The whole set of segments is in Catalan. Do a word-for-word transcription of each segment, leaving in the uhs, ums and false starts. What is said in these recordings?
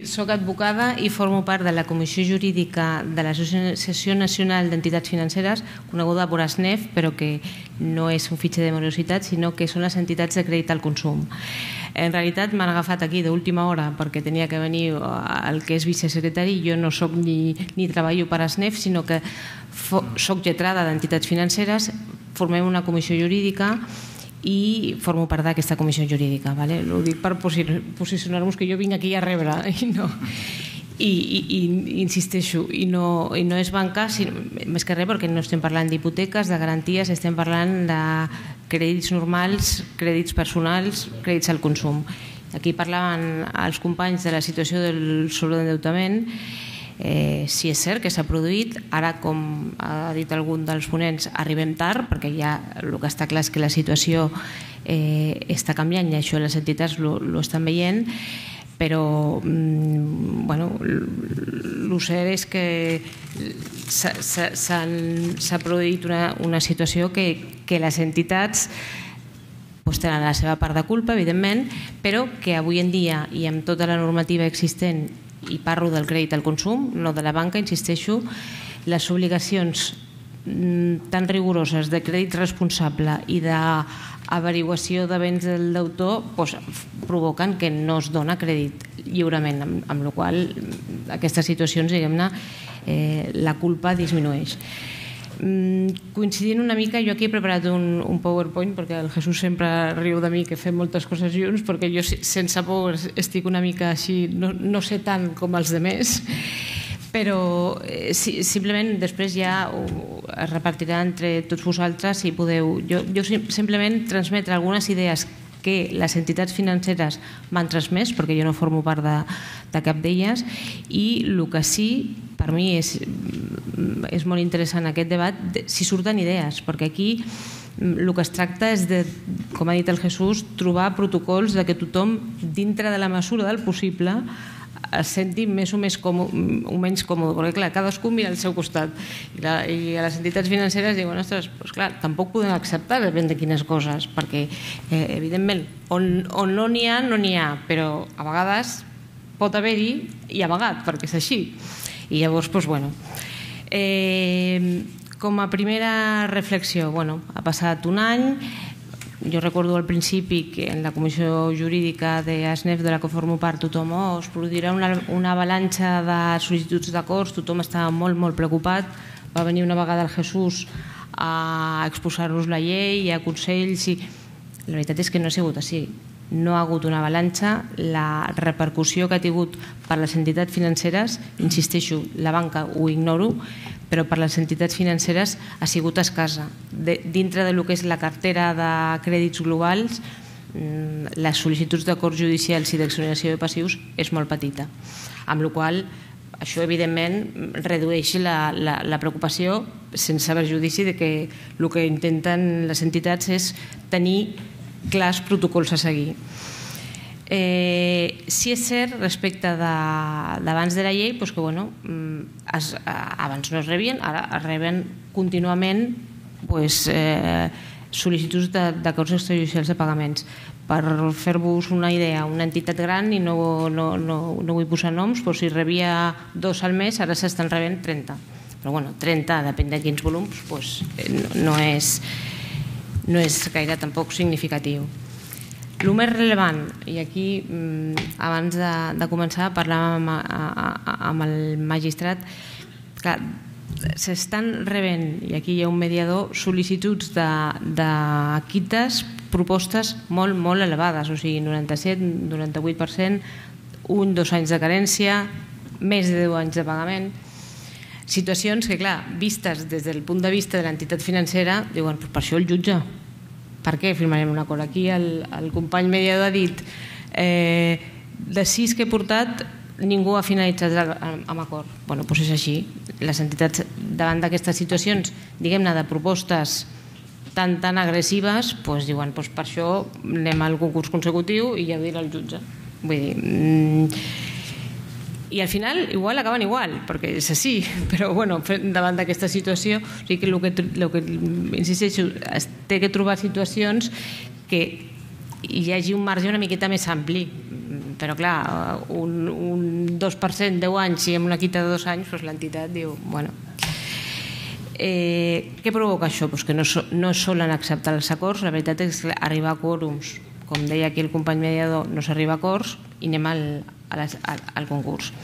soc advocada i formo part de la Comissió Jurídica de l'Associació Nacional d'Entitats Financeres, coneguda per A S N E F, però que no és un fitxer de morositat, sinó que són les entitats de crèdit al consum. En realitat m'han agafat aquí d'última hora perquè tenia que venir el que és vicesecretari. Jo no soc ni, ni treballo per A S N E F, sinó que soc lletrada d'entitats financeres, formem una comissió jurídica i formo part d'aquesta comissió jurídica. Vale? Ho dic per posicionar-nos que jo vinc aquí a rebre i no... I, i, i insisteixo, i no, i no és banca, sinó, més que res perquè no estem parlant d'hipoteques, de garanties, estem parlant de crèdits normals, crèdits personals, crèdits al consum. Aquí parlaven els companys de la situació del sobreendeutament. Eh, si és cert que s'ha produït, ara, com ha dit algun dels ponents, arribem tard, perquè ja el que està clar és que la situació eh, està canviant i això les entitats lo, lo estan veient, però bueno, el cert és que s'ha produït una, una situació que, que les entitats pues, tenen la seva part de culpa, evidentment, però que avui en dia i amb tota la normativa existent, i parlo del crèdit al consum, no de la banca, insisteixo, les obligacions tan rigoroses de crèdit responsable i d'averiguació de béns del deutor pues, provoquen que no es dona crèdit lliurement, amb, amb la qual cosa aquestes situacions, diguem-ne, eh, la culpa disminueix. Mm, coincidint una mica, jo aquí he preparat un, un PowerPoint perquè el Jesús sempre riu de mi que fem moltes coses junts, perquè jo sense por estic una mica així, no, no sé tant com els demés, però eh, si, simplement després ja ho, es repartirà entre tots vosaltres si podeu. Jo, jo simplement transmetre algunes idees que les entitats financeres m'han transmès, perquè jo no formo part de, de cap d'elles, i el que sí, per mi és, és molt interessant aquest debat, si surten idees, perquè aquí el que es tracta és de, com ha dit el Jesús, trobar protocols de que tothom, dintre de la mesura del possible, es senti més o, més còmode, o menys còmode, perquè clar, cadascú mira al seu costat i, la, i les entitats financeres diuen, ostres, doncs clar, tampoc podem acceptar depèn de quines coses, perquè eh, evidentment, on, on no n'hi ha, no n'hi ha, però a vegades pot haver-hi i amagat, perquè és així. I llavors, doncs bueno, eh, com a primera reflexió, bueno, ha passat un any. Jo recordo al principi que en la comissió jurídica de A S N E F de la que formo part tothom, oh, es produirà una, una avalanxa de sol·licituds d'acords, tothom estava molt, molt preocupat. Va venir una vegada el Jesús a exposar-nos la llei, a consells, i la veritat és que no ha sigut així. No ha hagut una avalanxa. La repercussió que ha tingut per les entitats financeres, insisteixo, la banca ho ignoro, però per les entitats financeres ha sigut escassa. De, dintre del que és la cartera de crèdits globals, les sol·licituds d'acords judicials i d'exoneració de passius és molt petita, amb la qual cosa això evidentment redueix la, la, la preocupació sense perjudici de que el que intenten les entitats és tenir clars protocols a seguir. Eh, si és cert respecte d'abans de, de la llei doncs que bueno, es, abans no es rebien, ara es reben contínuament doncs, eh, sol·licituds d'acords extrajudicials de pagaments. Per fer-vos una idea, una entitat gran, i no, no, no, no vull posar noms, però si rebia dos al mes, ara s'estan rebent trenta. Però bueno, trenta, depèn de quins volums, doncs no, no, és, no és gaire tampoc significatiu. El més rellevant, i aquí abans de, de començar parlàvem amb, amb el magistrat, clar, s'estan rebent, i aquí hi ha un mediador, sol·licituds de, de quites, propostes molt, molt elevades, o sigui, noranta-set, noranta-vuit per cent, un, dos anys de carència, més de deu anys de pagament. Situacions que, clar, vistes des del punt de vista de l'entitat financera, diuen, per això el jutge. Per què firmarem un acord? Aquí el, el company mediador ha dit eh, de sis que he portat ningú ha finalitzat amb acord. Bé, doncs és així. Les entitats davant d'aquestes situacions, diguem-ne, de propostes tan, tan agressives, doncs diuen, doncs per això anem al concurs consecutiu i ja ho dirà el jutge. Vull dir... Mm, i al final igual acaben igual, perquè és així, però bueno, davant d'aquesta situació, o sigui que el que, el que insisteixo, es té que trobar situacions que hi hagi un marge una miqueta més ampli. però clar, un dos per cent, deu anys i amb una quita de dos anys, l'entitat diu, bueno... Què provoca això? Que no solen acceptar els acords, la veritat és arribar a quòrums, com deia aquí el company mediador, no s'arriba a acords i anem al concurs.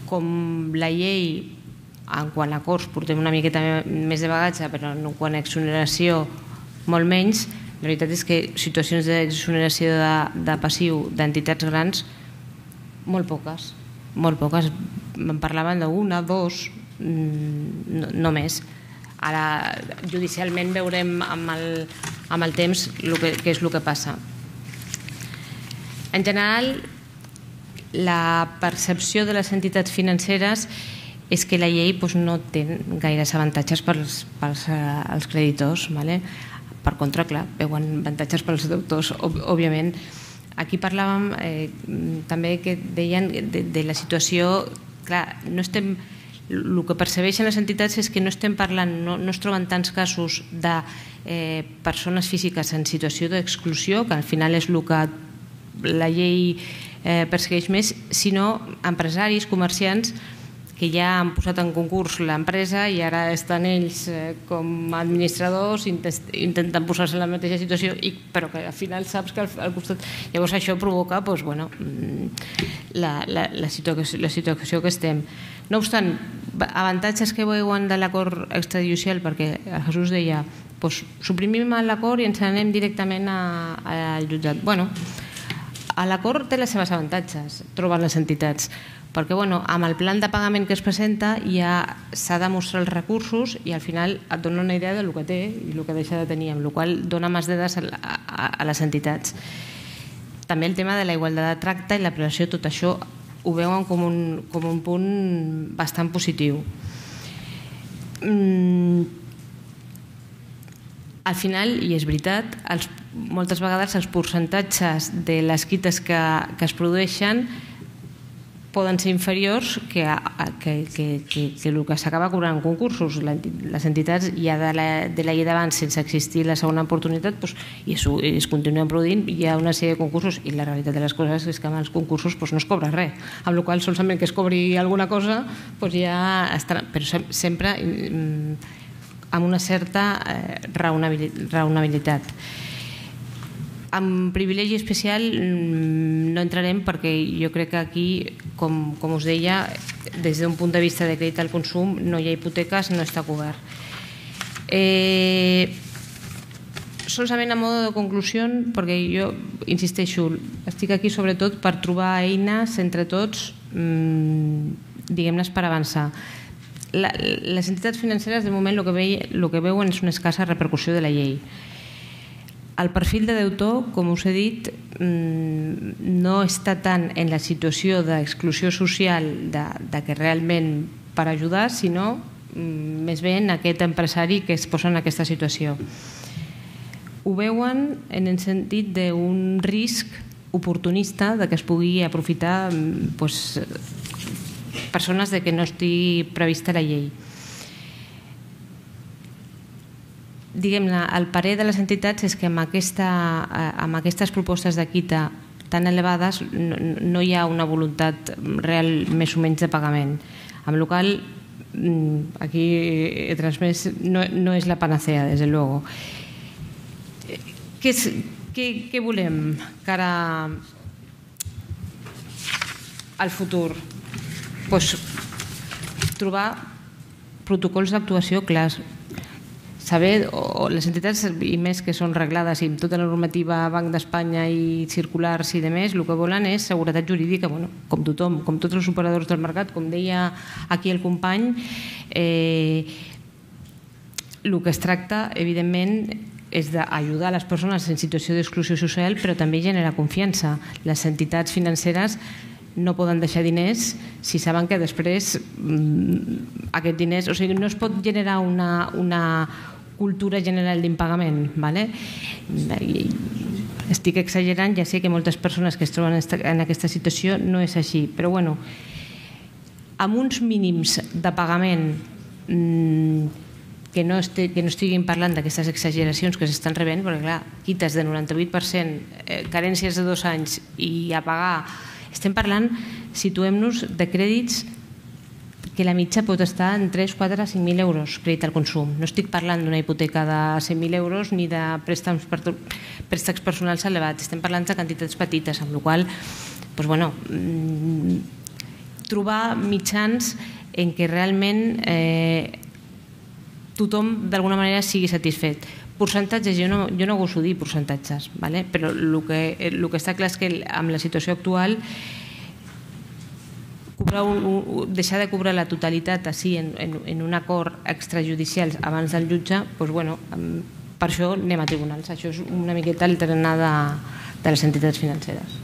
Com la llei, en quant a acords, portem una miqueta més de bagatge, però en quant a exoneració molt menys, la veritat és que situacions d'exoneració de passiu d'entitats grans, molt poques, molt poques. Em parlaven d'una, dos, no més. Ara, judicialment, veurem amb el temps què és el que passa. En general, la percepció de les entitats financeres és que la llei no té gaires avantatges pels creditors. Per contra, clar, veuen avantatges pels deutors, òbviament. Aquí parlàvem també que deien de la situació, clar, no estem... El que percebeixen les entitats és que no estem parlant, no es troben tants casos de persones físiques en situació d'exclusió, que al final és el que la llei persegueix més, sinó empresaris, comerciants, que ja han posat en concurs l'empresa i ara estan ells com a administradors, intenten posar-se en la mateixa situació, però que al final saps que al costat... Llavors això provoca la situació que estem. No obstant, avantatges que veuen de l'acord extrajudicial, perquè el Jesús deia suprimim l'acord i ens anem directament al jutjat. Bé, l'acord té les seves avantatges, troben les entitats, perquè amb el plan de pagament que es presenta ja s'ha de mostrar els recursos i al final et dona una idea del que té i el que deixa de tenir, amb la qual cosa dona més dades a les entitats. També el tema de la igualtat de tracte i la prevenció, tot això ho veuen com un punt bastant positiu. Al final, i és veritat, moltes vegades els percentatges de les quites que es produeixen poden ser inferiors que el que s'acaba cobrant en concursos. Les entitats ja de la llei d'abans, sense existir la segona oportunitat, i es continuen produint, hi ha una sèrie de concursos i la realitat de les coses és que amb els concursos no es cobra res, amb la qual cosa solament que es cobri alguna cosa ja està, però sempre amb una certa raonabilitat. En privilegi especial no entrarem perquè jo crec que aquí, com us deia, des d'un punt de vista de crèdit al consum no hi ha hipoteques, no està cobert. Solament a mode de conclusió, perquè jo insisteixo, estic aquí sobretot per trobar eines entre tots, diguem-les, per avançar. Les entitats financeres de moment el que veuen és una escassa repercussió de la llei. El perfil de deutor, com us he dit, no està tant en la situació d'exclusió social que realment per ajudar, sinó més bé en aquest empresari que es posa en aquesta situació. Ho veuen en el sentit d'un risc oportunista que es pugui aprofitar persones que no estigui prevista la llei. Diguem-ne, el parer de les entitats és que amb aquestes propostes de quita tan elevades no hi ha una voluntat real més o menys de pagament, amb la qual cosa aquí he transmès no és la panacea, des de luego. Què volem cara al futur? Trobar protocols d'actuació clars, saber, o les entitats, i més que són reglades i amb tota la normativa Banc d'Espanya i circulars i demés, el que volen és seguretat jurídica, com tothom, com tots els operadors del mercat, com deia aquí el company. El que es tracta, evidentment, és d'ajudar les persones en situació d'exclusió social, però també generar confiança. Les entitats financeres no poden deixar diners si saben que després aquests diners... O sigui, no es pot generar una cultura general d'impagament. Estic exagerant, ja sé que moltes persones que es troben en aquesta situació no és així, però bueno, amb uns mínims de pagament que no estiguin parlant d'aquestes exageracions que s'estan rebent, perquè clar, quites de noranta-vuit per cent, carències de dos anys i a pagar, estem parlant, situem-nos, de crèdits que la mitja pot estar en tres, quatre, cinc mil euros crèdit al consum. No estic parlant d'una hipoteca de cent mil euros ni de préstecs personals elevats, estem parlant de quantitats petites, amb la qual cosa, trobar mitjans en què realment tothom d'alguna manera sigui satisfet. Percentatges, jo no goso dir percentatges, però el que està clar és que amb la situació actual deixar de cobrar la totalitat així en un acord extrajudicial abans del jutge, per això anem a tribunals. Això és una miqueta el tarannà de les entitats financeres.